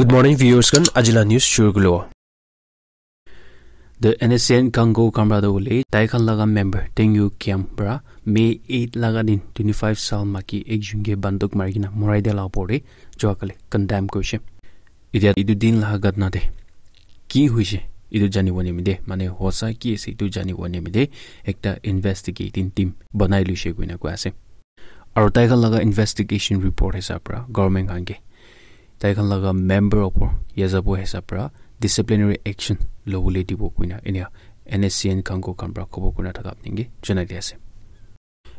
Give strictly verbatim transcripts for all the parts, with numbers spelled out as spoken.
Good morning, viewers khan. Ajila news shuru kulo. The N S C N Kango Kamra do le tai khan laga member Tengyu Kiam pra May eight laga din twenty-five sal maki ekjun ke banduk mari kena morai dia la opor de jua kale condemn koishe. Idia idu din laga gatna de ki hoishe idu jani wani mide, mane hosa ki ase idu jani wani mide, ekta investigating team banai luishe koina koi ase. Aru tai khan laga investigation report hisab pra government khan ke tai khan laga member opor ya jabo hisab pra disciplinary action lobole dibo koina enia N S C N Kango khan pra khobor kurina thaka apni ke janai di ase.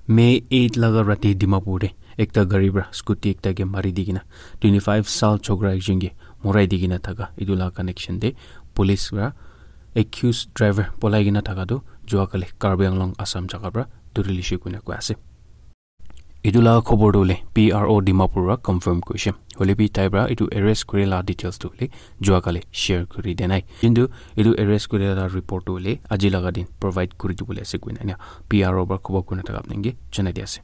May eight laga rati Dimapur de ekta gari pra scooty ekta ke mari di kena twenty-five sal chokra ekjun ke morai di kena thaka etu la connection de police pra accused driver polai kena thaka tu jua kale Karbi Anglong Assam jaga pra dhuri lishe koina koi ase. Etu la khobor tu le P R O Dimapur pra confirm koishe. Hoile bi tai pra etu arrest kuri la details tu le jua kale share kuri de nai. Kintu etu arrest kuri la report tu le aji laga din provide kuri dibole ase koina enia P R O pra khobor kurina thaka apni ke janai di ase.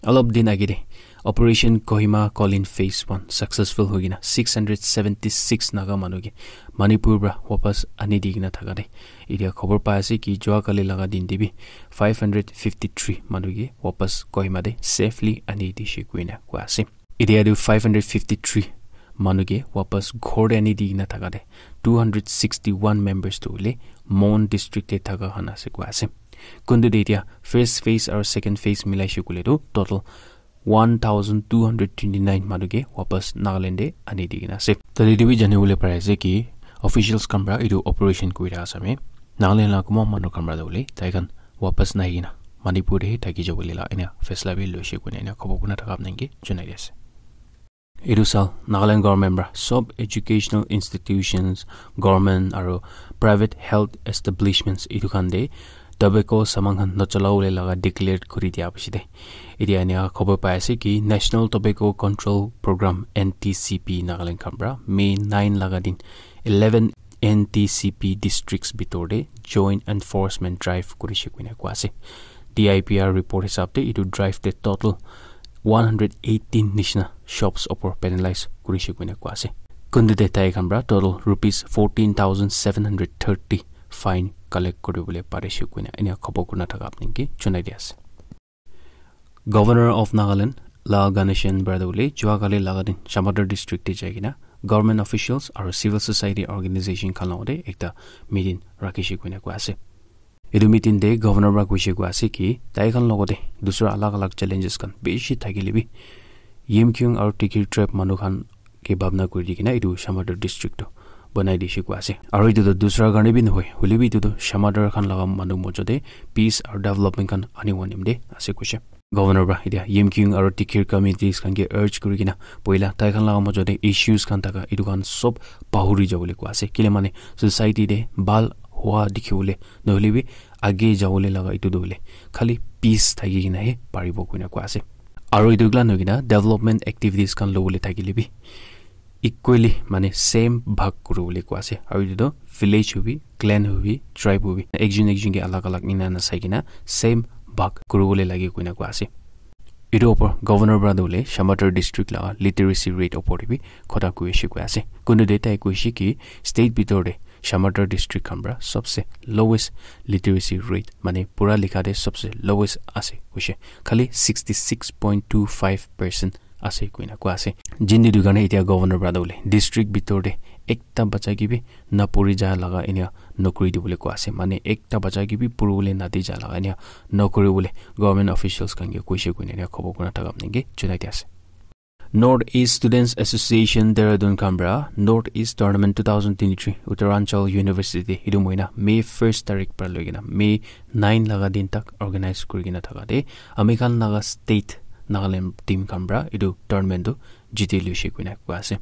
Alop din age de Operation Kohima Kolin Phase one successful hoi kena six hundred seventy-six Naga manu ke Manipur pra wapas ani di kena thaka de etia khobor pai ase ki jua kali laga din de bi five hundred fifty-three manu ke wapas Kohima de safely ani dishe koina koi ase. Etia tu five hundred fifty-three manu ke wapas ghor de ani di kena thaka de two hundred sixty-one members tu le Mon district de thaka khan ase koi ase. Kuntu de etia first phase aru second phase milaishe koile tu total one thousand two hundred twenty-nine manu ke wapas Nagaland de ani di kena ase. Tate etu bi jani bole pari ase ki officials khan pra etu operation kuri thaka same Nagaland la kuma manu khan pra de bole tai khan wapas nai kena Manipur de thaki jabo le la enia faisla bi loishe koina enia khobor kurina thaka apni ke janai di ase. Etu sal Nagaland government pra sob educational institutions, government aru private health establishments etu khan de tobacco saman khan nocholawole laga declare kuri dia piche de etia enia khobor pai ase ki National Tobacco Control Program N T C P Nagaland khan pra May nine laga din eleven N T C P districts bitor de joint enforcement drive kurishe koina koi ase. D I P R report hisab de etu drive de total one hundred eighteen nishina shops opor penalize kurishe koina koi ase. Kuntu de tai khan pra total rupees fourteen thousand seven hundred thirty fine collect kuribole parishe koina enia khobor kurina thaka apni ke janai di ase. Governor of Nagaland La Ganesan Bradole jua kali laga din Shamator district te jai kena government officials aru civil society organization khan logate ekta meeting rakhishe koina koi ase. Etu meeting te governor para koishe koi ase ki tai khan logate dusra alag alag challenges khan bishi thakile bi Yimkhiung aru Tikir tribe manu khan ke bhabna kuri di kena etu Shamator district tu banai dishe koi ase. Aru etu tu dusra karne bi nohoi, hoile bi etu tu Shamator khan laga manu mojo te peace aru development khan ani bo nimite ase koishe. Governor para etia Yimkhiung aru Tikir communities khan ke urge kuri kena poila tai khan laga mojo te issues khan thaka etu khan sob pahuri jabole koi ase. Kile mane society te bhal hua dikhi bole nohole bi age jabole laga etu tu hoile khali peace thaki kena he paribo koina koi ase. Aru etu kila nohoi kena development activities khan lobole thakile bi equally mane same bhag kuribole koi ase. Aru etu tu village hobi, clan hobi, tribe hobi, ekjon ekjon ke alag alag nina na sai kena same bhag kuribole lage koina koi ase. Etu opor governor para tu hoile Shamator district laga literacy rate opor te bi kotha koishe koi ase. Kuntu te tai koishe ki state bitor te Shamator district khan para sobse lowest literacy rate mane pura likha te sobse lowest ase koishe. Khali sixty six point two five percent ase koina koi ase. Jindi tu karne etia governor para tu hoile district bitor te ekta bacha ke bi na puri ja laga enia nokri dibole koi ase. Mane ekta bacha ke bi puribole na di ja laga enia nokri bole government officials khan ke koishe koina enia khobor kurina thaka apni ke junai di ase. North East Students Association Dehradun khan para North East Tournament two thousand twenty-three Uttaranchal University te etu mohina May first tarik para loi kena May nine laga din tak organize kuri kena thaka te ami khan laga state Nagaland team khan para etu tournament tu jiti luishe koina koi ase.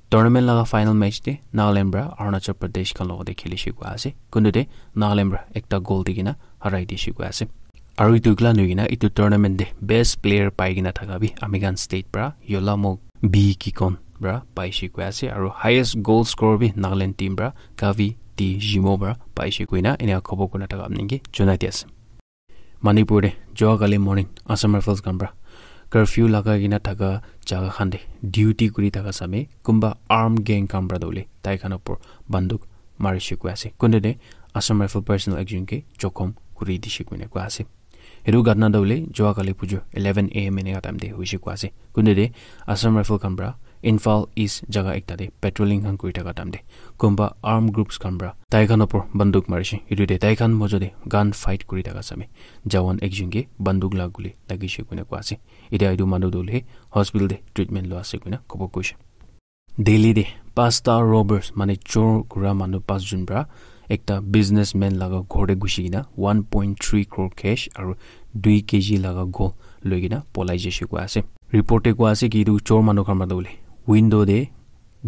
Tournament laga final match te Nagaland para Arunachal Pradesh khan logate khilishe koi ase. Kuntu te Nagaland para ekta goal di kena harai dishe koi ase. Aru etu kila nohoi kena etu tournament te best player pai kena thaka bi ami khan state para Yolamok B Kikon para paishe koi ase. Aru highest goal score bi Nagaland team para Kavi T Jimo para paishe koina enia khobor kurina thaka apni ke junai di ase. Manipur te jua kali morning Assam Rifles khan para curfew lagai kena thaka jaga khan te duty kuri thaka same kunba armed gang khan para tu hoile tai khan opor banduk marishe koi ase. Kuntu te Assam Rifle personnel ekjon ke jokhom kuri dishe koina koi ase. Etu ghatna tu hoile jua kali pujo eleven a m eneka time te hoishe koi ase. Kuntu te Assam Rifle khan para Imphal East jaga ekta te patrolling khan kuri thaka time te kunba armed groups khan para tai khan opor banduk marishe. Etu te tai khan mojo te gun fight kuri thaka same jawan ekjon ke banduk la guli lagishe koina koi ase. Etia etu manu tu hoile hospital te treatment lua ase koina khobor koishe. Delhi te pasta robbers mane chor kura manu pas jun para ekta businessman laga ghor te gushi kena one point three crore cash aru dui kg laga gold loi kena polai jaise koi ase. Report te koi ase ki etu chor manu khan para tu hoile window te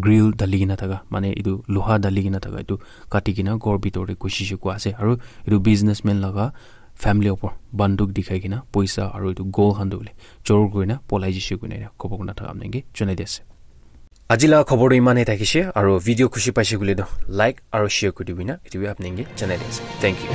grill dali kena thaka mane etu loha dali kena thaka etu kati kena ghor bitor te gushi she koi ase aru etu businessman laga family opor banduk dikhai kena poisa aru etu gold khan tu hoile chor kuri na polai jaise koina khobor kona thaka apni ke janai di ase. Aji laga khobor tu iman e thakishe aru video khushi paishe koile tu like aru share kuri dibi na etu bi apni ke janai di ase. Thank you.